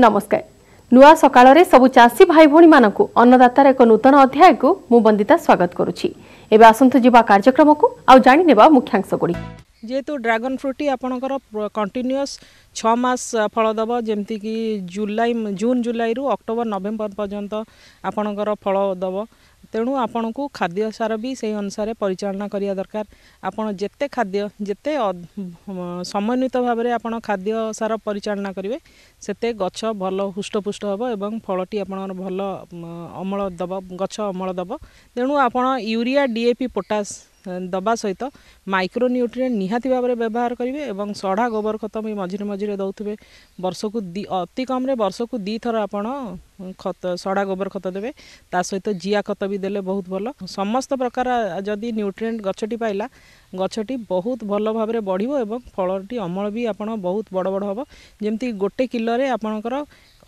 ନମସ୍କାର। ନୂଆ ସକାଳରେ ସବୁ ଚାଷୀ ଭାଇ ଭଉଣୀମାନଙ୍କୁ ଅନ୍ନଦାତାର ଏକ ନୂତନ ଅଧ୍ୟାୟକୁ ମୁଁ ବନ୍ଦିତା ସ୍ୱାଗତ କରୁଛି। ଏବେ ଆସନ୍ତୁ ଯିବା କାର୍ଯ୍ୟକ୍ରମକୁ ଆଉ ଜାଣିନେବା ମୁଖ୍ୟାଂଶ ଗୁଡ଼ିକ। ଯେହେତୁ ଡ୍ରାଗନ୍ ଫ୍ରୁଟ୍ଟି ଆପଣଙ୍କର କଣ୍ଟିନ୍ୟୁଅସ୍ 6 ମାସ ଫଳ ଦେବ, ଯେମିତିକି ଜୁଲାଇ, ଜୁନ୍ ଜୁଲାଇରୁ ଅକ୍ଟୋବର ନଭେମ୍ବର ପର୍ଯ୍ୟନ୍ତ ଆପଣଙ୍କର ଫଳ ଦେବ। ତେଣୁ ଆପଣଙ୍କୁ ଖାଦ୍ୟ ସାର ବି ସେଇ ଅନୁସାରେ ପରିଚାଳନା କରିବା ଦରକାର। ଆପଣ ଯେତେ ଖାଦ୍ୟ, ଯେତେ ସମନ୍ୱିତ ଭାବରେ ଆପଣ ଖାଦ୍ୟ ସାର ପରିଚାଳନା କରିବେ, ସେତେ ଗଛ ଭଲ ହୃଷ୍ଟପୁଷ୍ଟ ହେବ ଏବଂ ଫଳଟି ଆପଣଙ୍କର ଭଲ ଅମଳ ଦେବ, ଗଛ ଅମଳ ଦେବ। ତେଣୁ ଆପଣ ୟୁରିଆ, ଡିଏପି, ପୋଟାସ୍ ଦେବା ସହିତ ମାଇକ୍ରୋନ୍ୟୁଟ୍ରିଏଣ୍ଟ ନିହାତି ଭାବରେ ବ୍ୟବହାର କରିବେ ଏବଂ ସଢ଼ା ଗୋବର ଖତ ବି ମଝିରେ ମଝିରେ ଦେଉଥିବେ। ବର୍ଷକୁ ଅତି କମ୍ରେ ବର୍ଷକୁ 2 ଥର ଆପଣ ଖତ, ସଢ଼ା ଗୋବର ଖତ ଦେବେ। ତା ସହିତ ଜିଆ ଖତ ବି ଦେଲେ ବହୁତ ଭଲ। ସମସ୍ତ ପ୍ରକାର ଯଦି ନ୍ୟୁଟ୍ରିଏଣ୍ଟ ଗଛଟି ପାଇଲା, ଗଛଟି ବହୁତ ଭଲ ଭାବରେ ବଢ଼ିବ ଏବଂ ଫଳଟି ଅମଳ ବି ଆପଣ ବହୁତ ବଡ଼ ବଡ଼ ହେବ। ଯେମିତି ଗୋଟେ କିଲୋରେ ଆପଣଙ୍କର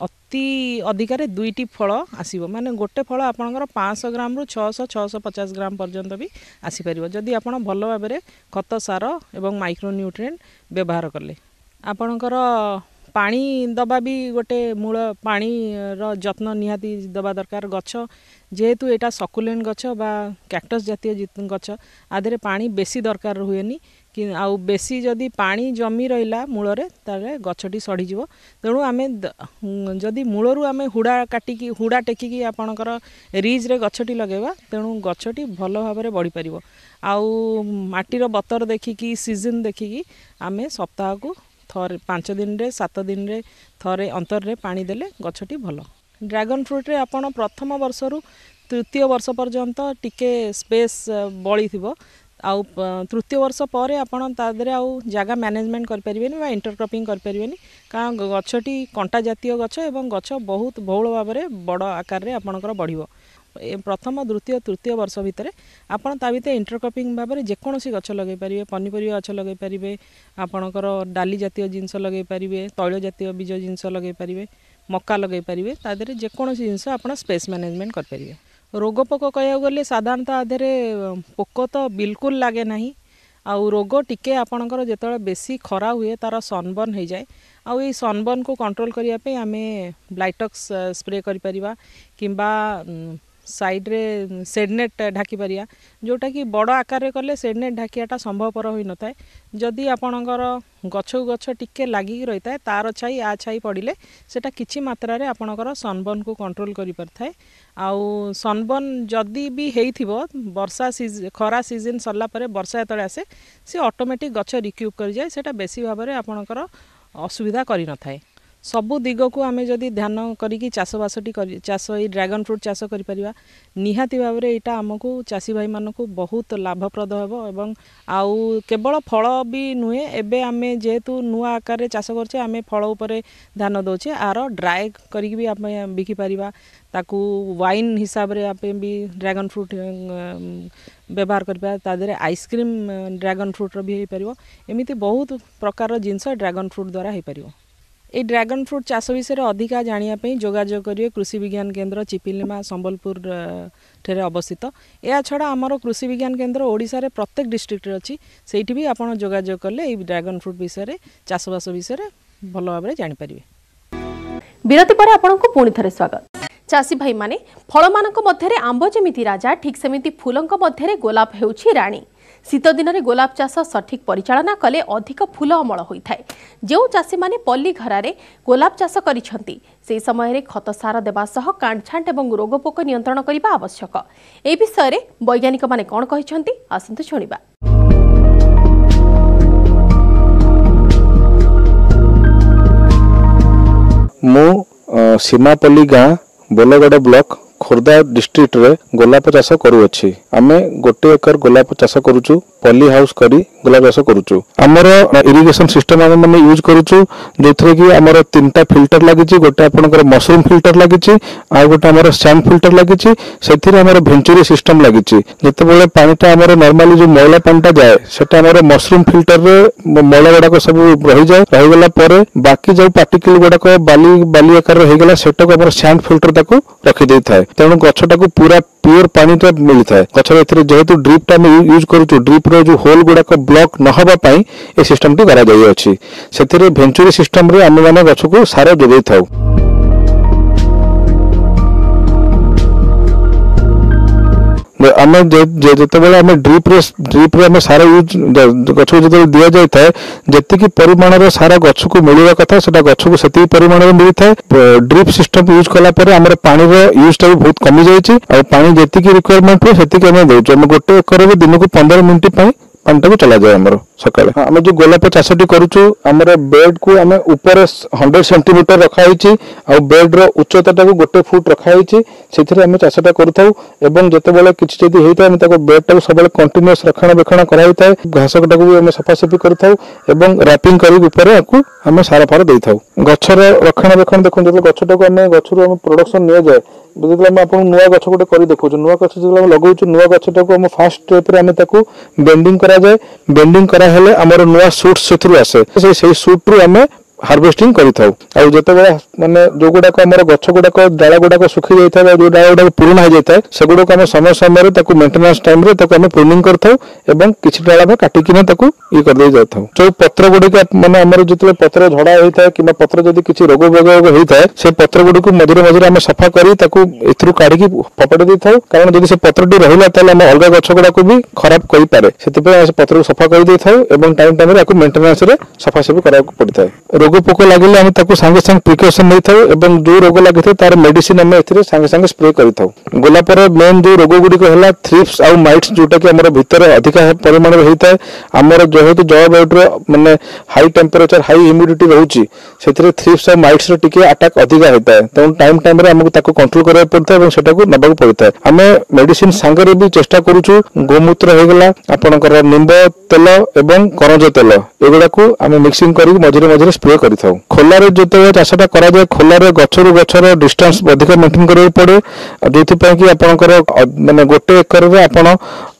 ଅତି ଅଧିକାରେ ଦୁଇଟି ଫଳ ଆସିବ, ମାନେ ଗୋଟେ ଫଳ ଆପଣଙ୍କର 500 ଗ୍ରାମରୁ 600, 650 ଗ୍ରାମ ପର୍ଯ୍ୟନ୍ତ ବି ଆସିପାରିବ, ଯଦି ଆପଣ ଭଲ ଭାବରେ ଖତ, ସାର ଏବଂ ମାଇକ୍ରୋନ୍ୟୁଟ୍ରିଏଣ୍ଟ ବ୍ୟବହାର କଲେ। ଆପଣଙ୍କର ପାଣି ଦେବା ବି ଗୋଟେ ମୂଳ, ପାଣିର ଯତ୍ନ ନିହାତି ଦେବା ଦରକାର। ଗଛ ଯେହେତୁ ଏଇଟା ସକୁଲେଣ୍ଟ ଗଛ ବା କ୍ୟାକ୍ଟସ୍ ଜାତୀୟ ଗଛ, ଆ ଦେହରେ ପାଣି ବେଶୀ ଦରକାର ହୁଏନି କି। ଆଉ ବେଶୀ ଯଦି ପାଣି ଜମି ରହିଲା ମୂଳରେ, ତାହେଲେ ଗଛଟି ସଢ଼ିଯିବ। ତେଣୁ ଆମେ ଯଦି ମୂଳରୁ ଆମେ ହୁଡ଼ା କାଟିକି, ହୁଡ଼ା ଟେକିକି ଆପଣଙ୍କର ରିଜ୍ରେ ଗଛଟି ଲଗାଇବା, ତେଣୁ ଗଛଟି ଭଲ ଭାବରେ ବଢ଼ିପାରିବ। ଆଉ ମାଟିର ବତର ଦେଖିକି, ସିଜନ୍ ଦେଖିକି ଆମେ ସପ୍ତାହକୁ ଥରେ, 5 ଦିନରେ, 7 ଦିନରେ ଥରେ ଅନ୍ତରରେ ପାଣି ଦେଲେ ଗଛଟି ଭଲ। ଡ୍ରାଗନ୍ ଫ୍ରୁଟ୍ରେ ଆପଣ ପ୍ରଥମ ବର୍ଷରୁ ତୃତୀୟ ବର୍ଷ ପର୍ଯ୍ୟନ୍ତ ଟିକେ ସ୍ପେସ୍ ବଳିଥିବ। ଆଉ ତୃତୀୟ ବର୍ଷ ପରେ ଆପଣ ତା ଦେହରେ ଆଉ ଜାଗା ମ୍ୟାନେଜମେଣ୍ଟ କରିପାରିବେନି ବା ଇଣ୍ଟରକ୍ରପିଂ କରିପାରିବେନି, କାରଣ ଗଛଟି କଣ୍ଟା ଜାତୀୟ ଗଛ ଏବଂ ଗଛ ବହୁତ ବହୁଳ ଭାବରେ ବଡ଼ ଆକାରରେ ଆପଣଙ୍କର ବଢ଼ିବ। ପ୍ରଥମ, ଦ୍ୱିତୀୟ, ତୃତୀୟ ବର୍ଷ ଭିତରେ ଆପଣ ତା ଭିତରେ ଇଣ୍ଟରକ୍ରପିଂ ଭାବରେ ଯେକୌଣସି ଗଛ ଲଗାଇ ପାରିବେ। ପନିପରିବା ଗଛ ଲଗାଇ ପାରିବେ, ଆପଣଙ୍କର ଡାଲି ଜାତୀୟ ଜିନିଷ ଲଗାଇ ପାରିବେ, ତୈଳ ଜାତୀୟ ବୀଜ ଜିନିଷ ଲଗାଇ ପାରିବେ, ମକା ଲଗାଇ ପାରିବେ। ତା ଦେହରେ ଯେକୌଣସି ଜିନିଷ ଆପଣ ସ୍ପେସ୍ ମ୍ୟାନେଜମେଣ୍ଟ କରିପାରିବେ। ରୋଗ ପୋକ କହିବାକୁ ଗଲେ ସାଧାରଣତଃ ଆ ଦେହରେ ପୋକ ତ ବିଲକୁଲ ଲାଗେ ନାହିଁ। ଆଉ ରୋଗ ଟିକେ ଆପଣଙ୍କର ଯେତେବେଳେ ବେଶୀ ଖରା ହୁଏ, ତା'ର ସନବର୍ନ ହେଇଯାଏ। ଆଉ ଏଇ ସନବର୍ନକୁ କଣ୍ଟ୍ରୋଲ କରିବା ପାଇଁ ଆମେ ବ୍ଲାଇଟକ୍ସ ସ୍ପ୍ରେ କରିପାରିବା କିମ୍ବା ସାଇଡ଼୍ରେ ସେଡ଼ନେଟ୍ ଢାଙ୍କି ପାରିବା, ଯେଉଁଟାକି ବଡ଼ ଆକାରରେ କଲେ ସେଡ଼ନେଟ୍ ଢାଙ୍କିବାଟା ସମ୍ଭବପର ହୋଇନଥାଏ। ଯଦି ଆପଣଙ୍କର ଗଛକୁ ଗଛ ଟିକେ ଲାଗିକି ରହିଥାଏ, ତାର ଛାଇ ଆ ଛାଇ ପଡ଼ିଲେ ସେଇଟା କିଛି ମାତ୍ରାରେ ଆପଣଙ୍କର ସନବର୍ନକୁ କଣ୍ଟ୍ରୋଲ କରିପାରିଥାଏ। ଆଉ ସନବର୍ନ ଯଦି ବି ହେଇଥିବ, ବର୍ଷା ଖରା ସିଜନ୍ ସରିଲା ପରେ ବର୍ଷା ଯେତେବେଳେ ଆସେ, ସେ ଅଟୋମେଟିକ୍ ଗଛ ରିକ୍ୟୁବ୍ କରିଯାଏ। ସେଇଟା ବେଶୀ ଭାବରେ ଆପଣଙ୍କର ଅସୁବିଧା କରିନଥାଏ। ସବୁ ଦିଗକୁ ଆମେ ଯଦି ଧ୍ୟାନ କରିକି ଚାଷବାସଟି କରି ଚାଷ, ଏଇ ଡ୍ରାଗନ୍ ଫ୍ରୁଟ୍ ଚାଷ କରିପାରିବା, ନିହାତି ଭାବରେ ଏଇଟା ଆମକୁ ଚାଷୀ ଭାଇମାନଙ୍କୁ ବହୁତ ଲାଭପ୍ରଦ ହେବ। ଏବଂ ଆଉ କେବଳ ଫଳ ବି ନୁହେଁ, ଏବେ ଆମେ ଯେହେତୁ ନୂଆ ଆକାରରେ ଚାଷ କରୁଛେ, ଆମେ ଫଳ ଉପରେ ଧ୍ୟାନ ଦେଉଛେ। ଆର ଡ୍ରାଏ କରିକି ବି ଆମେ ବିକିପାରିବା। ତାକୁ ୱାଇନ୍ ହିସାବରେ ଆମେ ବି ଡ୍ରାଗନ୍ ଫ୍ରୁଟ୍ ବ୍ୟବହାର କରିପାରିବା। ତା ଦେହରେ ଆଇସ୍କ୍ରିମ୍ ଡ୍ରାଗନ୍ ଫ୍ରୁଟ୍ର ବି ହେଇପାରିବ। ଏମିତି ବହୁତ ପ୍ରକାରର ଜିନିଷ ଡ୍ରାଗନ୍ ଫ୍ରୁଟ୍ ଦ୍ୱାରା ହେଇପାରିବ। ଏଇ ଡ୍ରାଗନ୍ ଫ୍ରୁଟ୍ ଚାଷ ବିଷୟରେ ଅଧିକା ଜାଣିବା ପାଇଁ ଯୋଗାଯୋଗ କରିବେ କୃଷି ବିଜ୍ଞାନ କେନ୍ଦ୍ର, ଚିପିଲିମା, ସମ୍ବଲପୁର ଠାରେ ଅବସ୍ଥିତ। ଏହା ଛଡ଼ା ଆମର କୃଷି ବିଜ୍ଞାନ କେନ୍ଦ୍ର ଓଡ଼ିଶାରେ ପ୍ରତ୍ୟେକ ଡିଷ୍ଟ୍ରିକ୍ଟରେ ଅଛି। ସେଇଠି ବି ଆପଣ ଯୋଗାଯୋଗ କଲେ ଏଇ ଡ୍ରାଗନ୍ ଫ୍ରୁଟ୍ ବିଷୟରେ, ଚାଷବାସ ବିଷୟରେ ଭଲ ଭାବରେ ଜାଣିପାରିବେ। ବିରତି ପରେ ଆପଣଙ୍କୁ ପୁଣି ଥରେ ସ୍ୱାଗତ। ଚାଷୀ ଭାଇମାନେ, ଫଳମାନଙ୍କ ମଧ୍ୟରେ ଆମ୍ବ ଯେମିତି ରାଜା, ଠିକ୍ ସେମିତି ଫୁଲଙ୍କ ମଧ୍ୟରେ ଗୋଲାପ ହେଉଛି ରାଣୀ। ଶୀତ ଦିନରେ ଗୋଲାପ ଚାଷ ସଠିକ୍ ପରିଚାଳନା କଲେ ଅଧିକ ଫୁଲ ଅମଳ ହୋଇଥାଏ। ଯେଉଁ ଚାଷୀମାନେ ପଲ୍ଲୀ ଘରାରେ ଗୋଲାପ ଚାଷ କରିଛନ୍ତି, ସେହି ସମୟରେ ଖତ ସାର ଦେବା ସହ କାଣ୍ଟଛାଣ୍ଟ ଏବଂ ରୋଗପୋକ ନିୟନ୍ତ୍ରଣ କରିବା ଆବଶ୍ୟକ। ଏ ବିଷୟରେ ବୈଜ୍ଞାନିକମାନେ କ'ଣ କହିଛନ୍ତି, ଆସନ୍ତୁ ଶୁଣିବା। ମୁଁ ସୀମାପଲ୍ଲୀ ଗାଁ, ବୋଲଗଡ଼ ବ୍ଲକ, ଖୋର୍ଦ୍ଧା ଡିଷ୍ଟ୍ରିକ୍ଟରେ ଗୋଲାପ ଚାଷ କରୁଅଛି। ଆମେ ଗୋଟେ ଏକର ଗୋଲାପ ଚାଷ କରୁଛୁ। ପଲି ହାଉସ୍ କରି ଗୋଲାପ ଚାଷ କରୁଛୁ। ଆମର ଇରିଗେସନ ସିଷ୍ଟମ ଆମେ ମାନେ ୟୁଜ୍ କରୁଛୁ, ଯୋଉଥିରେ କି ଆମର ତିନିଟା ଫିଲ୍ଟର ଲାଗିଛି। ଗୋଟେ ଆପଣଙ୍କର ମସରୁମ ଫିଲ୍ଟର ଲାଗିଛି, ଆଉ ଗୋଟେ ଆମର ସ୍ୟାଣ୍ଡ ଫିଲ୍ଟର ଲାଗିଛି, ସେଥିରେ ଆମର ଭେଞ୍ଚୁରୀ ସିଷ୍ଟମ ଲାଗିଛି। ଯେତେବେଳେ ପାଣିଟା ଆମର ନର୍ମାଲି ଯୋଉ ମଇଳା ପାଣିଟା ଯାଏ, ସେଟା ଆମର ମସରୁମ ଫିଲ୍ଟରରେ ମଇଳା ଗୁଡାକ ସବୁ ରହିଯାଏ। ରହିଗଲା ପରେ ବାକି ଯୋଉ ପାର୍ଟିକଲ ଗୁଡାକ ବାଲି ବାଲି ଆକାରରେ ହେଇଗଲା, ସେଟାକୁ ଆମର ସ୍ୟାଣ୍ଡ ଫିଲ୍ଟର ତାକୁ ରଖିଦେଇଥାଏ। ତେଣୁ ଗଛଟାକୁ ପୁରା ପିଓର ପାଣିଟା ମିଳିଥାଏ ଗଛର। ଏଥିରେ ଯେହେତୁ ଡ୍ରିପଟା ଆମେ ୟୁଜ୍ କରୁଛୁ, ଡ୍ରିପର ଯୋଉ ହୋଲ ଗୁଡାକ ବ୍ଲକ୍ ନ ହେବା ପାଇଁ ଏ ସିଷ୍ଟମଟି କରାଯାଇଅଛି। ସେଥିରେ ଭେଞ୍ଚୁରୀ ସିଷ୍ଟମରେ ଆମେ ମାନେ ଗଛକୁ ସାର ଯୋଗାଇଥାଉ। ଆମେ ଯେତେବେଳେ ଆମେ ଡ୍ରିପ୍ରେ ଆମେ ସାର ୟୁଜ୍ ଗଛକୁ ଯେତେବେଳେ ଦିଆଯାଇଥାଏ, ଯେତିକି ପରିମାଣର ସାର ଗଛକୁ ମିଳିବା କଥା ସେଟା ଗଛକୁ ସେତିକି ପରିମାଣରେ ମିଳିଥାଏ। ଡ୍ରିପ୍ ସିଷ୍ଟମ ୟୁଜ୍ କଲା ପରେ ଆମର ପାଣିର ୟୁଜ୍ଟା ବି ବହୁତ କମିଯାଇଛି, ଆଉ ପାଣି ଯେତିକି ରିକ୍ୱାରମେଣ୍ଟ ହୁଏ ସେତିକି ଆମେ ଦେଉଛୁ। ଆମେ ଗୋଟେ ଏକରରେ ଦିନକୁ 15 ମିନିଟ୍ ପାଇଁ ପାଣିଟାକୁ ଚଲାଯାଏ ଆମର ସକାଳେ। ଆମେ ଯୋଉ ଗୋଲାପ ଚାଷଟି କରୁଛୁ, ଆମର ବେଡ୍କୁ ଆମେ ଉପରେ 100 ସେଣ୍ଟିମିଟର ରଖାହେଇଛି, ଆଉ ବେଡ୍ର ଉଚ୍ଚତାଟାକୁ 1 ଫୁଟ ରଖାହେଇଛି। ସେଥିରେ ଆମେ ଚାଷଟା କରୁଥାଉ, ଏବଂ ଯେତେବେଳେ କିଛି ଯଦି ହେଇଥାଏ ଆମେ ତାକୁ ବେଡ୍ଟାକୁ ସବୁବେଳେ କଣ୍ଟିନ୍ୟୁଅସ୍ ରକ୍ଷଣାବେକ୍ଷଣ କରାଯାଇଥାଏ। ଘାସଟାକୁ ବି ଆମେ ସଫାସଫି କରିଥାଉ ଏବଂ ରାପିଂ କରିକି ଉପରେ ଆକୁ ଆମେ ସାର ଫାର ଦେଇଥାଉ। ଗଛର ରକ୍ଷଣାବେକ୍ଷଣ ଦେଖନ୍ତୁ, ଯେତେବେଳେ ଗଛଟାକୁ ଆମେ ଗଛରୁ ଆମେ ପ୍ରଡକ୍ସନ ନିଆଯାଏ, ଯେତେବେଳେ ଆମେ ଆପଣଙ୍କୁ ନୂଆ ଗଛ ଗୋଟେ କରି ଦେଖାଉଛୁ, ନୂଆ ଗଛ ଯେତେବେଳେ ଆମେ ଲଗାଉଛୁ, ନୂଆ ଗଛଟାକୁ ଆମ ଫାଷ୍ଟ ଷ୍ଟେପ୍ରେ ଆମେ ତାକୁ ବେଣ୍ଡିଂ କରାଯାଏ। ବେଣ୍ଡିଂ କରାହେଲେ ଆମର ନୂଆ ସୁଟ୍ ସେଥିରୁ ଆସେ, ସେଇ ସୁଟ୍ରୁ ଆମେ ହାର୍ଭେଷ୍ଟିଂ କରିଥାଉ। ଆଉ ଯେତେବେଳେ ମାନେ ଯୋଉଗୁଡାକ ଆମର ଗଛ ଗୁଡାକ ଡାଳ ଗୁଡାକ ଶୁଖି ଯାଇଥାଏ ବା ଯୋଉ ଡାଳ ଗୁଡାକ ପୁରୁଣା ହେଇଯାଇଥାଏ, ସେଗୁଡାକୁ ଆମେ ସମୟ ସମୟରେ ତାକୁ ମେଣ୍ଟେନାନ୍ସ ଟାଇମରେ ତାକୁ ଆମେ ପ୍ରୁନିଂ କରିଥାଉ, ଏବଂ କିଛି ଡାଳ ଆମେ କାଟିକିନା ତାକୁ ଇଏ କରିଦେଇ ଯାଇଥାଉ। ଯୋଉ ପତ୍ର ଗୁଡିକ ମାନେ ଆମର ଯେତେବେଳେ ପତ୍ର ଝଡା ହେଇଥାଏ କିମ୍ବା ପତ୍ର ଯଦି କିଛି ରୋଗ ବୋଗ ହେଇଥାଏ, ସେ ପତ୍ର ଗୁଡିକୁ ମଝିରେ ମଝିରେ ଆମେ ସଫା କରି ତାକୁ ଏଥିରୁ କାଢିକି ଫୋପାଡ଼ି ଦେଇଥାଉ। କାରଣ ଯଦି ସେ ପତ୍ରଟି ରହିଲା ତାହେଲେ ଆମେ ଅଲଗା ଗଛ ଗୁଡାକୁ ବି ଖରାପ କରିପାରେ। ସେଥିପାଇଁ ଆମେ ସେ ପତ୍ରକୁ ସଫା କରିଦେଇଥାଉ ଏବଂ ଟାଇମ ଟାଇମରେ ଆକୁ ମେଣ୍ଟେନାନ୍ସରେ ସଫାସଫି କରିବାକୁ ପଡିଥାଏ। ରୋଗ ପୋକ ଲାଗିଲେ ଆମେ ତାକୁ ସାଙ୍ଗେ ସାଙ୍ଗେ ପ୍ରିକସନ ନେଇଥାଉ, ଏବଂ ଯୋଉ ରୋଗ ଲାଗିଥାଏ ତାର ମେଡିସିନ ଆମେ ଏଥିରେ ସାଙ୍ଗେ ସାଙ୍ଗେ ସ୍ପ୍ରେ କରିଥାଉ। ଗୋଲାପର ମେନ୍ ଯୋଉ ରୋଗ ଗୁଡ଼ିକ ହେଲା ଥ୍ରିପ୍ସ ଆଉ ମାଇଟ୍ସ, ଯୋଉଟା କି ଆମର ଭିତରେ ଅଧିକା ପରିମାଣରେ ହେଇଥାଏ। ଆମର ଯେହେତୁ ଜଳବାୟୁର ମାନେ ହାଇ ଟେମ୍ପରେଚର, ହାଇ ହ୍ୟୁମିଡିଟି ରହୁଛି, ସେଥିରେ ଥ୍ରିପ୍ସ ଆଉ ମାଇଟ୍ସର ଟିକେ ଆଟାକ୍ ଅଧିକା ହେଇଥାଏ। ତେଣୁ ଟାଇମ ଟାଇମରେ ଆମକୁ ତାକୁ କଣ୍ଟ୍ରୋଲ କରିବାକୁ ପଡିଥାଏ ଏବଂ ସେଟାକୁ ନେବାକୁ ପଡିଥାଏ। ଆମେ ମେଡିସିନ ସାଙ୍ଗରେ ବି ଚେଷ୍ଟା କରୁଛୁ, ଗୋମୂତ୍ର ହେଇଗଲା, ଆପଣଙ୍କର ନିମ୍ବ ତେଲ ଏବଂ କରଞ୍ଜ ତେଲ, ଏଗୁଡାକୁ ଆମେ ମିକ୍ସିଂ କରିକି ମଝିରେ ମଝିରେ ସ୍ପ୍ରେ କରିଥାଉ। ଖୋଲାରେ ଯେତେବେଳେ ଚାଷଟା କରାଯାଏ, ଖୋଲାରେ ଗଛରୁ ଗଛର ଡିଷ୍ଟାନ୍ସ ଅଧିକ ମେଣ୍ଟେନ କରିବାକୁ ପଡେ, ଯୋଉଥିପାଇଁ କି ଆପଣଙ୍କର ମାନେ ଗୋଟେ ଏକରରେ ଆପଣ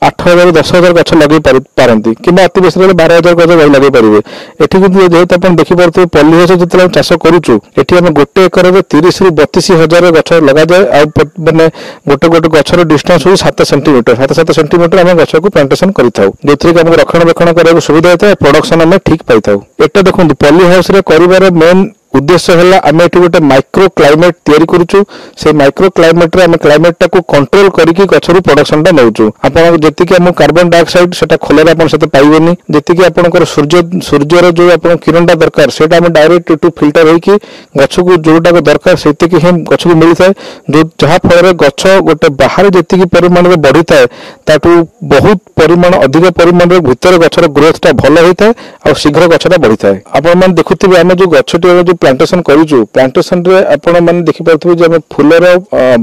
8,000 10,000 ଗଛ ଲଗେଇ ପାରନ୍ତି କିମ୍ବା ଅତି ବେଶୀ ହେଲେ 12,000 ଗଛ ଲଗେଇ ପାରିବେ। ଏଠି କିନ୍ତୁ ଯେହେତୁ ଆପଣ ଦେଖିପାରୁଥିବେ ପଲ୍ଲୀ ଯେତେବେଳେ ଆମେ ଚାଷ କରୁଛୁ, ଏଠି ଆମେ ଗୋଟେ ଏକରରେ 30ରୁ 32,000 ଗଛ ଲଗାଯାଏ, ଆଉ ମାନେ ଗୋଟେ ଗୋଟେ ଗଛର ଡିଷ୍ଟାନ୍ସ ହେଉଛି 7 ସେଣ୍ଟିମିଟର, 7 ସେଣ୍ଟିମିଟର ଆମେ ଗଛକୁ ପ୍ଲାଣ୍ଟେସନ କରିଥାଉ, ଯୋଉଥିରେ କି ଆମକୁ ରକ୍ଷଣାବେକ୍ଷଣ କରିବାକୁ ସୁବିଧା ହେଇଥାଏ, ପ୍ରଡକ୍ସନ ଆମେ ଠିକ ପାଇଥାଉ। ଏଟା ଦେଖନ୍ତୁ, ପଲ୍ଲୀ ହାଉସରେ କରିବାର ମେନ୍ ଉଦ୍ଦେଶ୍ୟ ହେଲା ଆମେ ଏଠି ଗୋଟେ ମାଇକ୍ରୋ କ୍ଲାଇମେଟ ତିଆରି କରୁଛୁ। ସେଇ ମାଇକ୍ରୋ କ୍ଲାଇମେଟରେ ଆମେ କ୍ଲାଇମେଟଟାକୁ କଣ୍ଟ୍ରୋଲ କରିକି ଗଛରୁ ପ୍ରଡକ୍ସନଟା ନେଉଛୁ। ଆପଣ ଯେତିକି ଆମକୁ କାର୍ବନ ଡାଇଅକ୍ସାଇଡ ସେଟା ଖୋଲାରେ ଆପଣ ସେତେ ପାଇବେନି, ଯେତିକି ଆପଣଙ୍କର ସୂର୍ଯ୍ୟର ଯୋଉ ଆପଣଙ୍କ କିରଣଟା ଦରକାର ସେଇଟା ଆମେ ଡାଇରେକ୍ଟ ଏଠୁ ଫିଲ୍ଟର ହେଇକି ଗଛକୁ ଯୋଉଟାକୁ ଦରକାର ସେତିକି ହିଁ ଗଛକୁ ମିଳିଥାଏ, ଯୋଉ ଯାହା ଫଳରେ ଗଛ ଗୋଟେ ବାହାରେ ଯେତିକି ପରିମାଣରେ ବଢିଥାଏ ତାଠୁ ବହୁତ ପରିମାଣ ଅଧିକ ପରିମାଣରେ ଭିତରେ ଗଛର ଗ୍ରୋଥଟା ଭଲ ହେଇଥାଏ ଆଉ ଶୀଘ୍ର ଗଛଟା ବଢିଥାଏ। ଆପଣମାନେ ଦେଖୁଥିବେ ଆମେ ଯୋଉ ଗଛଟି ଆମେ ଯୋଉ ପ୍ଲାଣ୍ଟେସନ କରୁଛୁ, ପ୍ଲାଣ୍ଟେସନରେ ଆପଣ ମାନେ ଦେଖିପାରୁଥିବେ ଯେ ଆମେ ଫୁଲର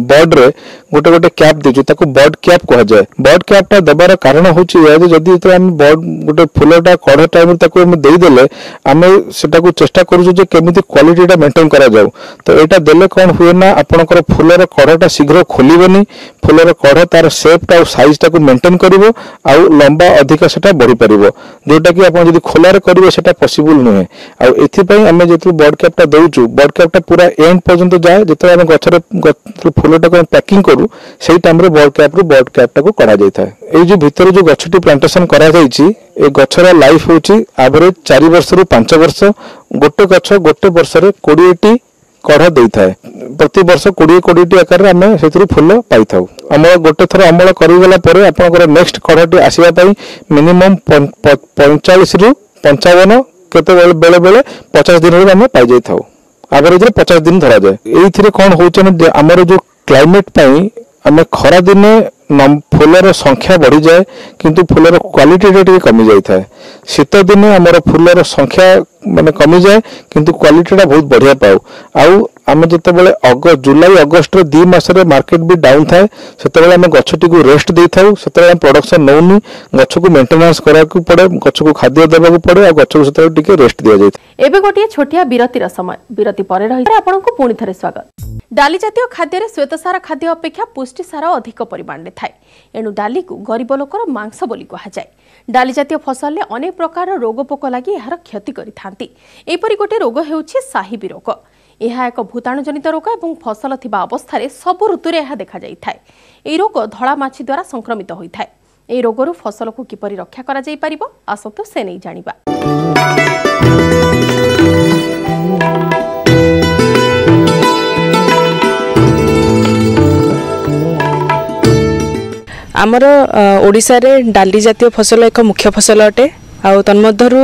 ବଡରେ ଗୋଟେ ଗୋଟେ କ୍ୟାପ୍ ଦେଇଛୁ, ତାକୁ ବଡ୍ କ୍ୟାପ୍ କୁହାଯାଏ। ବଡ୍ କ୍ୟାପ୍ଟା ଦେବାର କାରଣ ହେଉଛି ଏହା ଯେ ଯଦି ଯେତେବେଳେ ଆମେ ବଡ୍ ଗୋଟେ ଫୁଲଟା କଢ ଟାଇମରେ ତାକୁ ଆମେ ଦେଇଦେଲେ, ଆମେ ସେଟାକୁ ଚେଷ୍ଟା କରୁଛୁ ଯେ କେମିତି କ୍ୱାଲିଟିଟା ମେଣ୍ଟେନ କରାଯାଉ। ତ ଏଇଟା ଦେଲେ କ'ଣ ହୁଏ ନା ଆପଣଙ୍କର ଫୁଲର କଢଟା ଶୀଘ୍ର ଖୋଲିବନି, ଫୁଲର କଢ ତାର ସେପ୍ଟା ଆଉ ସାଇଜଟାକୁ ମେଣ୍ଟେନ କରିବ ଆଉ ଲମ୍ବା ଅଧିକ ସେଟା ବଢିପାରିବ, ଯୋଉଟାକି ଆପଣ ଯଦି ଖୋଲାରେ କରିବେ ସେଟା ପସିବୁଲ ନୁହେଁ। ଆଉ ଏଥିପାଇଁ ଆମେ ଯେତେବେଳେ ବଡ୍ କ୍ୟାପ୍ଟା ଦେଉଛୁ, ବଡ୍ କ୍ୟାପ୍ଟା ପୁରା ଏଣ୍ଡ ପର୍ଯ୍ୟନ୍ତ ଯାଏ। ଯେତେବେଳେ ଆମେ ଗଛରେ ଫୁଲଟାକୁ ଆମେ ପ୍ୟାକିଂ କରୁ ସେଇ ଟାଇମରେ ବଡ୍ କ୍ୟାପ୍ରୁ ବଡ୍ କ୍ୟାପ୍ଟାକୁ କଢାଯାଇଥାଏ। ଏଇ ଯୋଉ ଭିତରେ ଯୋଉ ଗଛଟି ପ୍ଲାଣ୍ଟେସନ କରାଯାଇଛି, ଏ ଗଛର ଲାଇଫ ହେଉଛି ଆଭରେଜ 4 ବର୍ଷରୁ 5 ବର୍ଷ। ଗୋଟେ ଗଛ ଗୋଟେ ବର୍ଷରେ 20ଟି କଢ ଦେଇଥାଏ। ପ୍ରତି ବର୍ଷ 20 20ଟି ଆକାରରେ ଆମେ ସେଥିରୁ ଫୁଲ ପାଇଥାଉ। ଅମଳ ଗୋଟେ ଥର ଅମଳ କରିଗଲା ପରେ ଆପଣଙ୍କର ନେକ୍ସଟ କଢଟି ଆସିବା ପାଇଁ ମିନିମମ୍ 45ରୁ 55, କେତେବେଳେ ବେଳେ ବେଳେ 50 ଦିନରେ ଆମେ ପାଇଯାଇଥାଉ। ଆଭରେଜରେ 50 ଦିନ ଧରାଯାଏ। ଏଇଥିରେ କ'ଣ ହେଉଛି ନା ଆମର ଯୋଉ କ୍ଲାଇମେଟ ପାଇଁ ଆମେ ଖରା ଦିନେ ଫୁଲର ସଂଖ୍ୟା ବଢିଯାଏ, କିନ୍ତୁ ଫୁଲର କ୍ୱାଲିଟିଟା ଟିକେ କମି ଯାଇଥାଏ। ଶୀତ ଦିନେ ଆମର ଫୁଲର ସଂଖ୍ୟା ମାନେ କମିଯାଏ, କିନ୍ତୁ କ୍ୱାଲିଟିଟା ବହୁତ ବଢିଆ ପାଉ। ଆଉ ଆମେ ଯେତେବେଳେ ଜୁଲାଇ ଅଗଷ୍ଟରେ 2 ମାସରେ ମାର୍କେଟ ବି ଡାଉନ୍ ଥାଏ, ସେତେବେଳେ ଆମେ ଗଛଟିକୁ ରେଷ୍ଟ ଦେଇଥାଉ। ସେତେବେଳେ ଆମେ ପ୍ରଡକ୍ସନ ନେଉନି, ଗଛକୁ ମେଣ୍ଟେନାନ୍ସ କରିବାକୁ ପଡେ, ଗଛକୁ ଖାଦ୍ୟ ଦେବାକୁ ପଡେ, ଆଉ ଗଛକୁ ସେତେବେଳେ ଟିକେ ରେଷ୍ଟ ଦିଆଯାଇଥାଏ। ଏବେ ଗୋଟିଏ ଛୋଟିଆ ବିରତିର ସମୟ। ବିରତି ପରେ ରହି ଆପଣଙ୍କୁ ପୁଣି ଥରେ ସ୍ୱାଗତ। ଡାଲି ଜାତୀୟ ଖାଦ୍ୟରେ ଶ୍ୱେତସାର ଖାଦ୍ୟ ଅପେକ୍ଷା ପୁଷ୍ଟିସାର ଅଧିକ ପରିମାଣରେ ଥାଏ। ଏଣୁ ଡାଲିକୁ ଗରିବ ଲୋକର ମାଂସ ବୋଲି କୁହାଯାଏ। ଡାଲି ଜାତୀୟ ଫସଲରେ ଅନେକ ପ୍ରକାରର ରୋଗ ପୋକ ଲାଗି ଏହାର କ୍ଷତି କରିଥାନ୍ତି। ଏପରି ଗୋଟିଏ ରୋଗ ହେଉଛି ସାହିବି ରୋଗ। ଏହା ଏକ ଭୂତାଣୁଜନିତ ରୋଗ ଏବଂ ଫସଲ ଥିବା ଅବସ୍ଥାରେ ସବୁ ଋତୁରେ ଏହା ଦେଖାଯାଇଥାଏ। ଏହି ରୋଗ ଧଳା ମାଛି ଦ୍ୱାରା ସଂକ୍ରମିତ ହୋଇଥାଏ। ଏହି ରୋଗରୁ ଫସଲକୁ କିପରି ରକ୍ଷା କରାଯାଇପାରିବ, ଆସନ୍ତୁ ସେ ନେଇ ଜାଣିବା। ଆମର ଓଡ଼ିଶାରେ ଡାଲି ଜାତୀୟ ଫସଲ ଏକ ମୁଖ୍ୟ ଫସଲ ଅଟେ। ଆଉ ତନ୍ମଧ୍ୟରୁ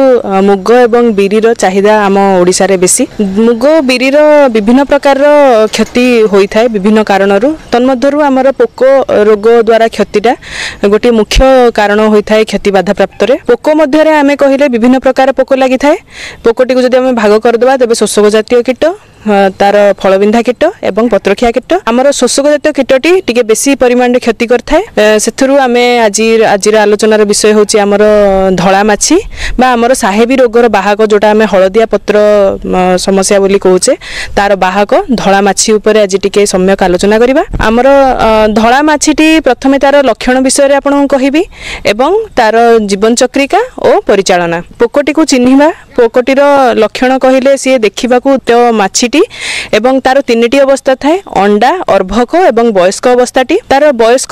ମୁଗ ଏବଂ ବିରିର ଚାହିଦା ଆମ ଓଡ଼ିଶାରେ ବେଶୀ। ମୁଗ ବିରିର ବିଭିନ୍ନ ପ୍ରକାରର କ୍ଷତି ହୋଇଥାଏ ବିଭିନ୍ନ କାରଣରୁ। ତନ୍ମଧ୍ୟରୁ ଆମର ପୋକ ରୋଗ ଦ୍ୱାରା କ୍ଷତିଟା ଗୋଟିଏ ମୁଖ୍ୟ କାରଣ ହୋଇଥାଏ କ୍ଷତି ବାଧାପ୍ରାପ୍ତରେ। ପୋକ ମଧ୍ୟରେ ଆମେ କହିଲେ ବିଭିନ୍ନ ପ୍ରକାର ପୋକ ଲାଗିଥାଏ। ପୋକଟିକୁ ଯଦି ଆମେ ଭାଗ କରିଦେବା ତେବେ ଶୋଷକ ଜାତୀୟ କୀଟ, ତାର ଫଳବିନ୍ଧା କୀଟ ଏବଂ ପତ୍ରଖିଆ କୀଟ। ଆମର ଶୋଷକ ଜାତୀୟ କୀଟଟି ଟିକେ ବେଶୀ ପରିମାଣରେ କ୍ଷତି କରିଥାଏ। ସେଥିରୁ ଆମେ ଆଜିର ଆଲୋଚନାର ବିଷୟ ହେଉଛି ଆମର ଧଳା ମାଛି ବା ଆମର ସାହେବୀ ରୋଗର ବାହକ, ଯେଉଁଟା ଆମେ ହଳଦିଆ ପତ୍ର ସମସ୍ୟା ବୋଲି କହୁଛେ, ତାର ବାହକ ଧଳା ମାଛି ଉପରେ ଆଜି ଟିକେ ସମ୍ୟକ ଆଲୋଚନା କରିବା। ଆମର ଧଳା ମାଛିଟି ପ୍ରଥମେ ତାର ଲକ୍ଷଣ ବିଷୟରେ ଆପଣଙ୍କୁ କହିବି ଏବଂ ତାର ଜୀବନ ଚକ୍ରିକା ଓ ପରିଚାଳନା। ପୋକଟିକୁ ଚିହ୍ନିବା, ପୋକଟିର ଲକ୍ଷଣ କହିଲେ ସିଏ ଦେଖିବାକୁ ତ ମାଛିଟି ଏବଂ ତାର ତିନିଟି ଅବସ୍ଥା ଥାଏ, ଅଣ୍ଡା, ଅର୍ଭକ ଏବଂ ବୟସ୍କ ଅବସ୍ଥାଟି। ତାର ବୟସ୍କ